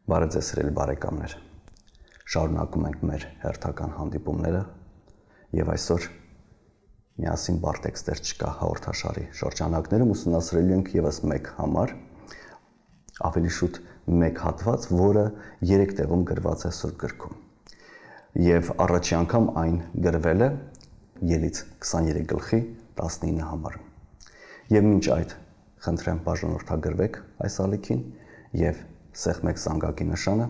Բարև ձեզ սիրելի բարեկամներ, շարունակում ենք մեր հերթական հանդիպումները և այսօր միասին բարդ տեքստեր չկա հաղորդաշարի շրջանակներում ուսումնասիրելու ենք ևս մեկ համար, ավելի շուտ մեկ հատված, որը 3 տեղում գրված է Սուրբ գրքում և առաջի անգամ այն գրվել է Ելից 23 գլխի 19 համարում և մինչ այդ խնդրեմ բաժանորդագրվեք այս ալիքին և սեղմեք զանգակի նշանը,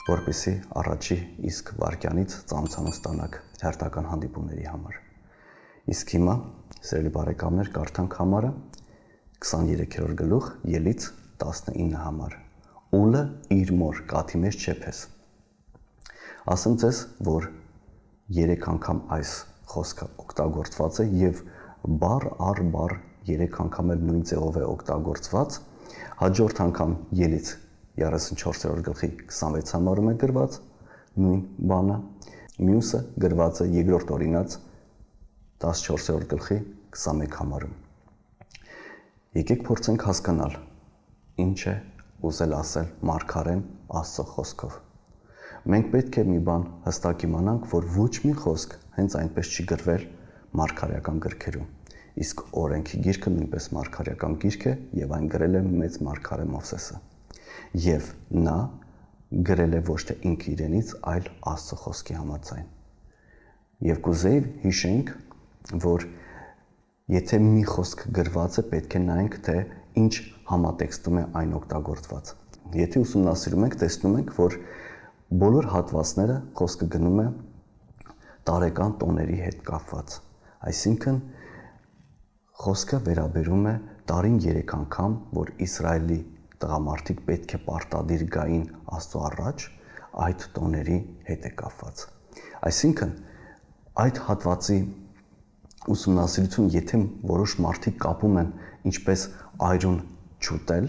որպեսզի առաջի իսկ վայրկյանից ծանոթանոց ստանաք հերթական հանդիպումների համար։ Իսկ հիմա, սիրելի բարեկամներ, կարդանք համարը 23-րդ գլուխ Ելից 19 համար։ Ուլը իր մոր կաթի մեջ չեփես։ Ասեմ ձեզ, որ 3 անգամ այս խոսքը օգտագործված է և բառ առ բառ 3 անգամ էլ նույն ձևով է օգտագործված, հաջորդ անգամ Ելից 34-րդ գլխի 26 համարում է գրված նույն բանը, մյուսը գրված է երկրորդ օրինաց 14-րդ գլխի 21 համարում։ Եկեք փորձենք հասկանալ, ինչ է ուզել ասել մարգարեն Աստծո խոսքով։ Մենք պետք է մի բան հստակ իմանանք, որ ոչ մի խոսք հենց այնպես չի գրվել մարգարեական գրքերում, իսկ օրենքի գիրքը նույնպես մարգարեական գիրք է և այն գրել է մեծ մարգարե Մովսեսը։ Եվ նա գրել է ոչ թե ինքը իրենից, այլ Աստծո խոսքի համաձայն։ Եվ կուզեի հիշենք, որ եթե մի խոսք գրված է, պետք է նայենք, թե ինչ համատեքստում է այն օգտագործված։ Եթե ուսումնասիրում ենք, տեսնում ենք, որ բոլոր հատվածները խոսքը գնում է տարեկան տոների հետ կապված։ Այսինքն խոսքը վերաբերում է տարին 3 անգամ, որ Իսրայելի տղամարդիկ պետք է պարտադիր գային Աստծո առաջ, այդ տոների հետ է կապված։ Այսինքն այդ հատվածի ուսումնասիրություն, եթե որոշ մարդիկ կապում են ինչպես այրուն չուտել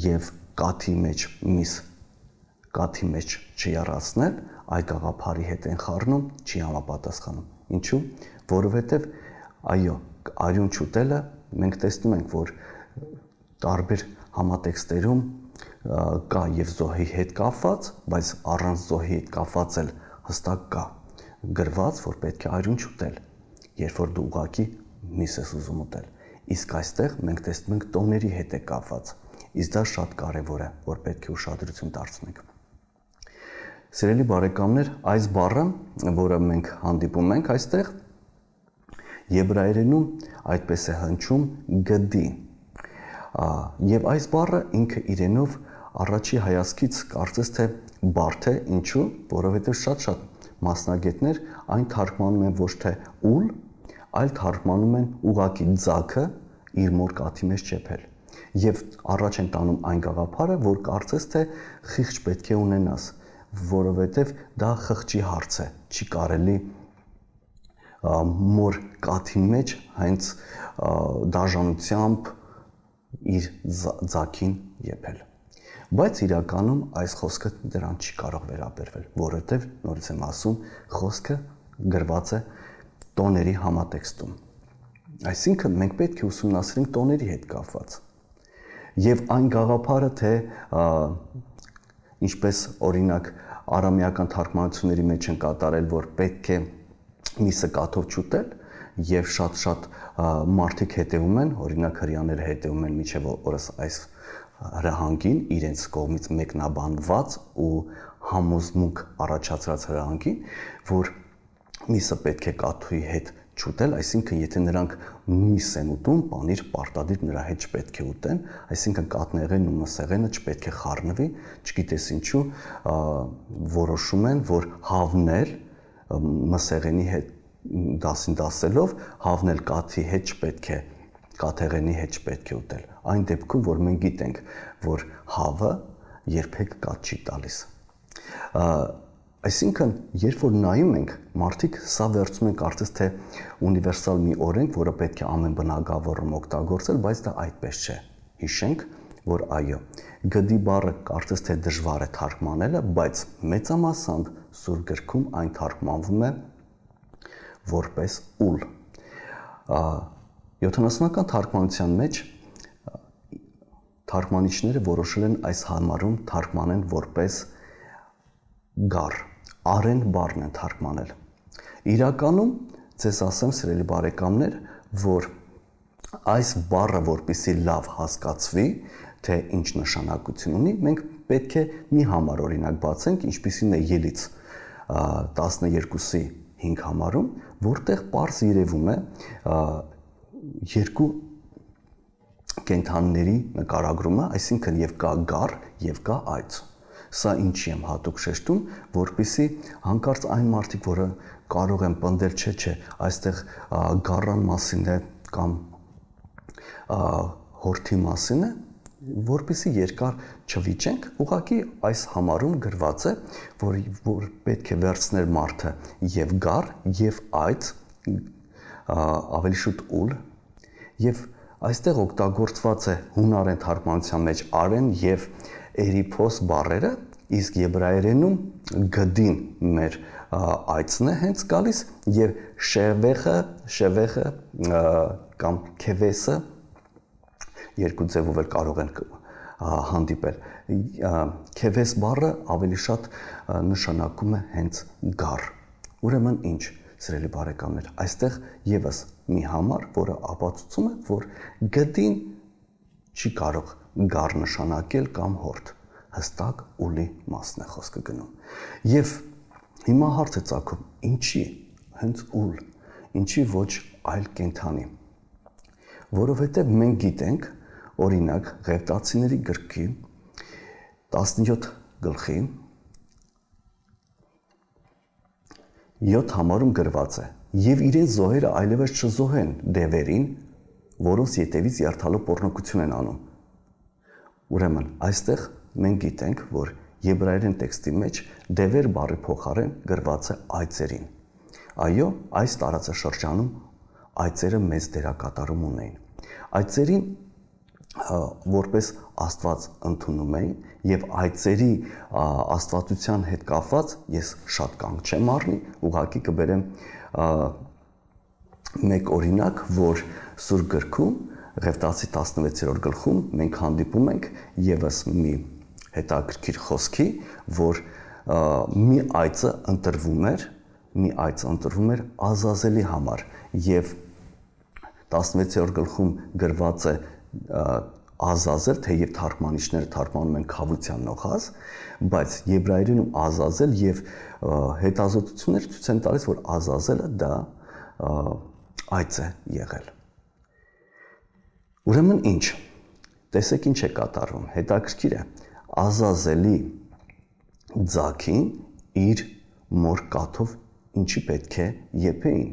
և կաթի մեջ միս կաթի մեջ չյառացնել, այդ գաղափարի հետ են խառնում, չի համապատասխանում։ Ինչու՞։ Որովհետև այո, այրուն չուտելը մենք տեսնում ենք, որ տարբեր համատեքստերում կա և զոհի հետ կապված, բայց առանց զոհի հետ կապված էլ հստակ կա գրված, որ պետք է այրուն չուտել, երբ որ դու ուղղակի միս ես ուզում ուտել։ Իսկ այստեղ մենք տեսնում ենք տոների հետ է կապված, իսկ դա շատ կարևոր է, որ պետք է ուշադրություն դարձնենք։ Սիրելի բարեկամներ, այս բառը, որը մենք հանդիպում ենք այստեղ, եբրայերենում այդպես է հնչում գդի։ Եվ այս բառը ինքը իրենով առաջի հայացքից կարծես թե բարդ է, ինչու, որովհետև շատ մասնագետներ այն թարգմանում են ոչ թե ուլ, այլ թարգմանում են ուղղակի ձագը իր մոր կաթի մեջ չեփել։ Եվ առաջ են տանում այն գաղափարը, որ կարծես թե խիղճ պետք է ունենաս, որովհետև դա խղճի հարց է, չի կարելի մոր կաթի մեջ հենց դաժանությամբ իր ձագին եփել։ Բայց իրականում այս խոսքը դրան չի կարող վերաբերվել, որովհետև նորից եմ ասում, խոսքը գրված է տոների համատեքստում։ Այսինքն մենք պետք է ուսումնասիրենք տոների հետ կապված։ Եվ այն գաղափարը, թե ինչպես օրինակ արամեական թարգմանությունների մեջ են կատարել, որ պետք է միսը կաթով չուտել, և շատ մարդիկ հետևում են, օրինակ հրեաները հետևում են մինչև օրս այս հրահանգին, իրենց կողմից մեկնաբանված ու համոզմունք առաջացրած հրահանգին, որ միսը պետք է կաթի հետ չուտել, այսինքն եթե նրանք միս են ուտում, պանիր պարտադիր նրա հետ չպետք է ուտեն, այսինքն կաթնեղենն ու մսեղենը չպետք է խառնվի, չգիտես ինչու, որոշում են, որ հավնել մսեղենի հետ դասին դասելով, հավնել կաթի հետ չպետք է, կաթեղենի հետ չպետք է ուտել։ Այն դեպքում, որ մենք գիտենք, որ հավը երբեք կաթ չի տալիս։ Այսինքն, երբ որ նայում ենք, մարդիկ սա վերցնում են կարծես թե ունիվերսալ մի օրենք, որը պետք է ամեն բնագավառում օգտագործել, բայց դա այդպես չէ։ Հիշենք, որ այո, գդի բառը կարծես թե դժվար է թարգմանելը, բայց մեծամասամբ Սուրբ գրքում այն թարգմանվում է որպես ուլ։ 70-ական թարգմանության մեջ թարգմանիչները որոշել են այս համարում թարգմանեն որպես գառ, արեն բառն են թարգմանել։ Իրականում ձեզ ասեմ, սիրելի բարեկամներ, որ այս բառը որպեսզի լավ հասկացվի, թե ինչ նշանակություն ունի, մենք պետք է մի համար օրինակ բացենք, ինչպիսին է Ելից 12-ի 5 համարում, որտեղ պարզ երևում է երկու կենդանիների նկարագրումը, այսինքն եւ կա գառ եւ կա այծ։ Սա ինչի եմ հատուկ շեշտում, որպեսզի հանկարծ այն մարդիկ, որը կարող են պնդել, չէ, այստեղ գառան մասին է կամ հորթի մասին է, որպեսզի երկար չվիճենք, ուղղակի այս համարում գրված է, որ պետք է վերցնել մարդը եւ գառ եւ այծ, ավելի շուտ ուլ, եւ այստեղ օգտագործված է հունարեն թարգմանության մեջ արեն եւ էրիփոս բառերը, իսկ եբրայերենում գդին մեր այծն է հենց գալիս եւ շևեխը կամ քևեսը երկու ձևով էլ կարող են հանդիպել։ Քևես բառը ավելի շատ նշանակում է հենց գառ։ Ուրեմն ինչ, սիրելի բարեկամներ, այստեղ եւս մի համար, որը ապացուցում է, որ գդին չի կարող գառ նշանակել կամ հորթ, հստակ ուլի մասն է խոսքը գնում։ Եվ հիմա հարց է ծագում, ինչի հենց ուլ, ինչի ոչ այլ կենդանի։ Որովհետև մենք գիտենք, օրինակ Ղևտացիների գրքի 17 գլխի 7 համարում գրված է. «Եվ իրեն զոհերը այլևս չզոհեն դևերին, որոնց ետևից երթալով պոռնոգություն են անում»։ Ուրեմն այստեղ մենք գիտենք, որ եբրայերեն տեքստի մեջ դևեր բառի փոխարեն գրված է այծերին։ Այո, այս տարածաշրջանում այծերը մեծ դերակատարում ունեին։ Այծերին որպես Աստված ընդունում էին եւ այծերի աստվածության հետ կապված ես շատ կանգ չեմ առնի, ուղղակի կբերեմ մեկ օրինակ, որ Սուրբ գրքում Ղևտացի 16-րդ գլխում մենք հանդիպում ենք եւս մի հետաքրքիր խոսքի, որ մի այծը ընտրվում էր Ազազելի համար եւ 16-րդ գլխում գրված է Ազազել, թեև թարգմանիչները թարգմանում են քավության նոխազ, բայց եբրայերենում Ազազել եւ հետազոտությունները ցույց են տալիս, որ Ազազելը դա այծ է եղել։ Ուրեմն ինչ, տեսեք ինչ է կատարվում, հետաքրքիր է, Ազազելի ձագին իր մոր կաթով ինչի պետք է եփեին։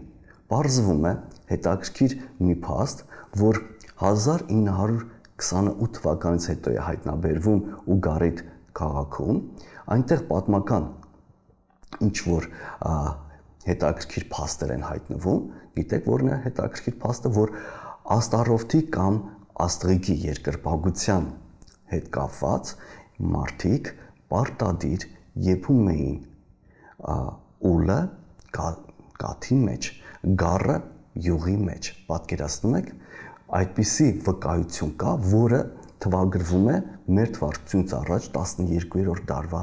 Պարզվում է հետաքրքիր մի փաստ, որ 1928 թվականից հետո է հայտնաբերվում Ուգարիտ քաղաքում, այնտեղ պատմական ինչ որ հետաքրքիր փաստեր են հայտնվում, գիտեք որն է հետաքրքիր փաստը, որ Աստարովթի կամ Աստղիկի երկրպագության հետ կապված մարդիկ պարտադիր եփում էին ուլը կաթի մեջ, գառը յուղի մեջ, պատկերացնում եք, այդպիսի վկայություն կա, որը թվագրվում է մեր թվարկությունից առաջ 12-րդ դարվա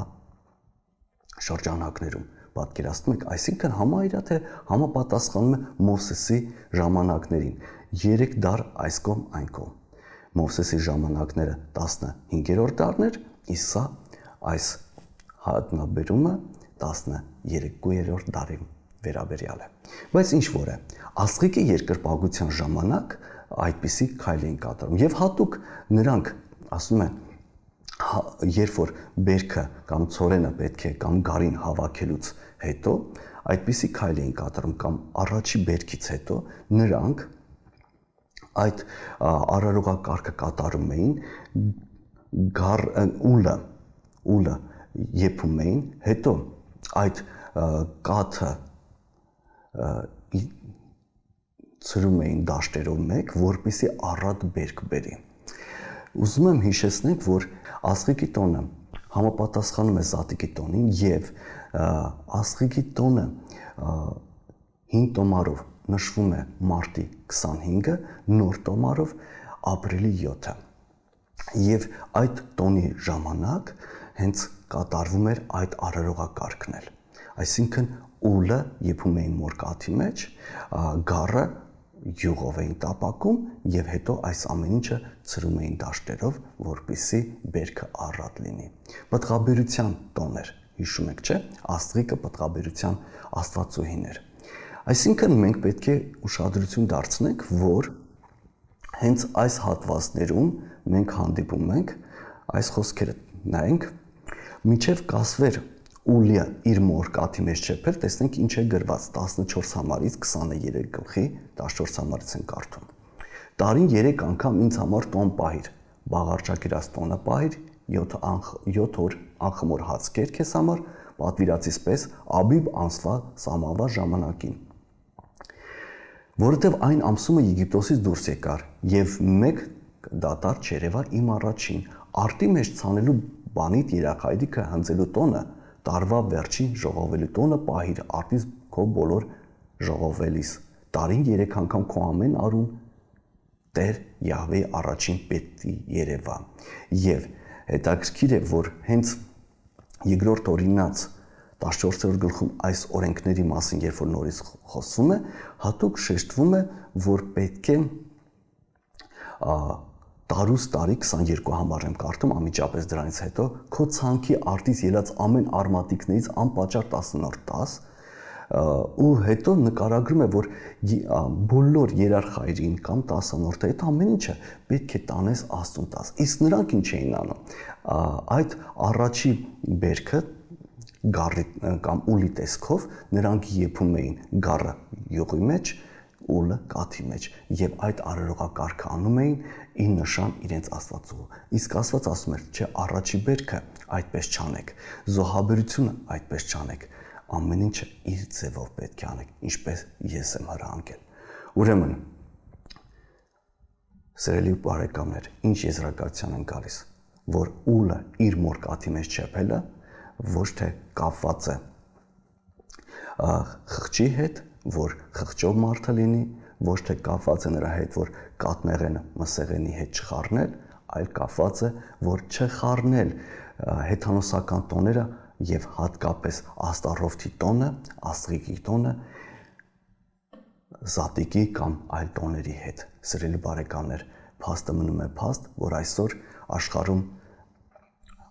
շրջանակներում, պատկերացնում եք, այսինքն համարյա թե համապատասխանում է Մովսեսի ժամանակներին, 3 դար այս կողմ այն կողմ։ Մովսեսի ժամանակները 15-րդ դարներ, իսկ սա այս հայտնաբերումը 13-րդ դարի վերաբերյալ է։ Բայց ինչ որ է, Աստղիկի երկրպագության ժամանակ այդպիսի քայլ էին կատարում եւ հատուկ նրանք ասում են երբ որ բերքը կամ ցորենը պետք է կամ գարին հավաքելուց հետո այդպիսի քայլ էին կատարում կամ առաջի բերքից հետո նրանք այդ արարողակարգը կատարում էին ուլը եփում էին հետո այդ կաթը ծրում էին դաշտերով մեկ, որպեսզի առատ բերք բերի։ Ուզում եմ հիշեցնել, որ Աստղիկի տոնը համապատասխանում է Զատիկի տոնին եւ Աստղիկի տոնը 5 տոմարով նշվում է մարտի 25-ը, նոր տոմարով ապրիլի 7-ը։ Եվ այդ տոնի ժամանակ հենց կատարվում էր այդ արարողակարգն էլ։ Այսինքն ուլը եփում էին մորկաթի մեջ, գառը յուղով էին տապակում եւ հետո այս ամեն ինչը ծրում էին դաշտերով, որպեսզի բերքը առատ լինի։ Պտղաբերության տոն էր, հիշում եք, չէ՞, Աստղիկը պտղաբերության աստվածուհին էր։ Այսինքն մենք պետք է ուշադրություն դարձնենք, որ հենց այս հատվածներում մենք հանդիպում ենք այս խոսքերը նայենք, մինչև կասվեր ուլը իր մորկաթի մեջ չեփել, տեսնենք ինչ է գրված 14 համարից 23 գլխի 14 համարից են կարդում։ Տարին 3 անգամ ինձ համար տոն պահիր, բաղարջակիրած տոնը պահիր, 7 օր անխմոր հաց կեր քեզ համար, պատվիրացիս պես Աբիբ ամսվա սամավա ժամանակին։ Որովհետև այն ամսումը Եգիպտոսից դուրս եկար եւ մեկ դատար չերևա իմ առաջին արտի մեջ ցանելու բանիդ երախայրիկը հնձելու տոնը տարվա վերջին ժողովելու տոնը պահիր արտից քո բոլոր ժողովելիս տարին 3 անգամ քո ամեն արուն Տեր Յահվեի առաջին պետի երևա եւ հետաքրքիր է որ հենց երկրորդ օրինաց 14-րդ գլխում այս օրենքների մասին երբ որ նորից խոսվում է, հատուկ շեշտվում է, որ պետք է տարուց տարի 22 համար եմ կարդում, անմիջապես դրանից հետո քո ցանքի արտից ելած ամեն արմատիկներից անպատճառ 10-րդ 10 ու հետո նկարագրում է, որ բոլոր երարխայրին կամ 10-րդը այդ ամեն ինչը պետք է տանես Աստծուն տաս։ Իսկ նրանք ինչ էին անում։ Այդ առաջի բերքը գառի կամ ուլի տեսքով նրանք եփում էին գառը յուղի մեջ, ուլը կաթի մեջ եւ այդ արարողակարգը անում էին ի նշան իրենց Աստվածու։ Իսկ Աստված ասում էր, չէ, առաջի բերքը այդպես չանեք, զոհաբերությունը այդպես չանեք, ամեն ինչը իր ձևով պետք է անեք, ինչպես ես եմ հրահանգել։ Ուրեմն, սիրելի բարեկամներ, ինչ եզրակացության են գալիս, որ ուլը իր մորկաթի մեջ չեփելը ոչ թե կապված է խղճի հետ, որ խղճով մարդը լինի, ոչ թե կապված է նրա հետ, որ կաթնեղենը մսեղենի հետ չխառնել, այլ կապված է, որ չխառնել հեթանոսական տոները եւ հատկապես Աստառովթի տոնը, Աստղիկի տոնը, Զատիկի կամ այլ տոների հետ։ Սիրելի բարեկամներ, փաստը մնում է փաստ, որ այսօր աշխարհում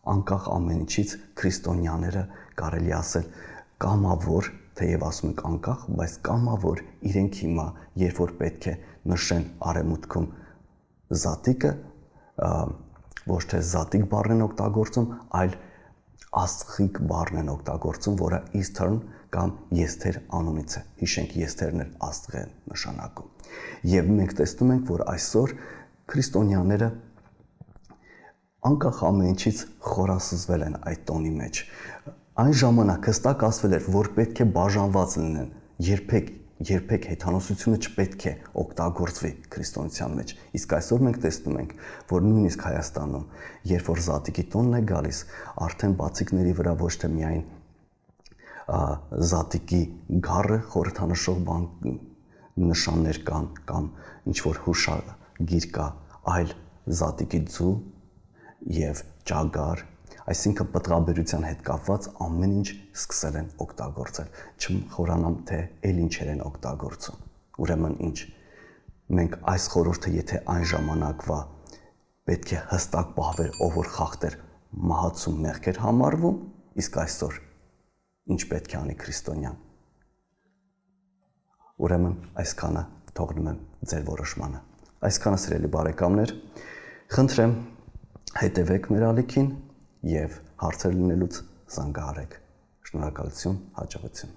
անկախ ամեն ինչից քրիստոնյաները կարելի ասել կամավոր, թեև ասում ենք անկախ, բայց կամավոր իրենք հիմա, երբ որ պետք է նշեն արևմուտքում զատիկը, ոչ թե զատիկ բառն են օգտագործում, այլ աստղիկ բառն են օգտագործում, որը Eastern կամ Եստեր անունից է։ Հիշենք Եստերն էլ աստղ են նշանակում։ Եվ մենք տեսնում ենք, որ այսօր քրիստոնյաները անկախ ամեն ինչից խորասուզվել են այդ տոնի մեջ։ Այն ժամանակ հստակ ասվել էր, որ պետք է բաժանված լինեն, երբեք հեթանոսությունը չպետք է օգտագործվի քրիստոնեության մեջ։ Իսկ այսօր մենք տեսնում ենք, որ նույնիսկ Հայաստանում, երբ որ զատիկի տոնն է գալիս, արդեն բացիկների վրա ոչ թե միայն զատիկի գառը խորհրդանշող նշաններ կան կամ ինչ որ հուշագիր կա, այլ զատիկի ձու եւ ճագար, այսինքն պտղաբերության հետ կապված ամեն ինչ սկսել են օգտագործել, չխորանամ թե էլ ինչեր են օգտագործում։ Ուրեմն ինչ, մենք այս խորհուրդը եթե այն ժամանակվա պետք է հստակ պահվեր, ով որ խախտեր մահացու մեղքեր համարվում, իսկ այսօր ինչ պետք է անի քրիստոնյան։ Ուրեմն այսքանը թողնում եմ ձեր որոշմանը։ Այսքանը սիրելի բարեկամներ, խնդրեմ հետևեք մեր ալիքին եւ հարցեր լինելուց զանգահարեք։ Շնորհակալություն, հաջողություն։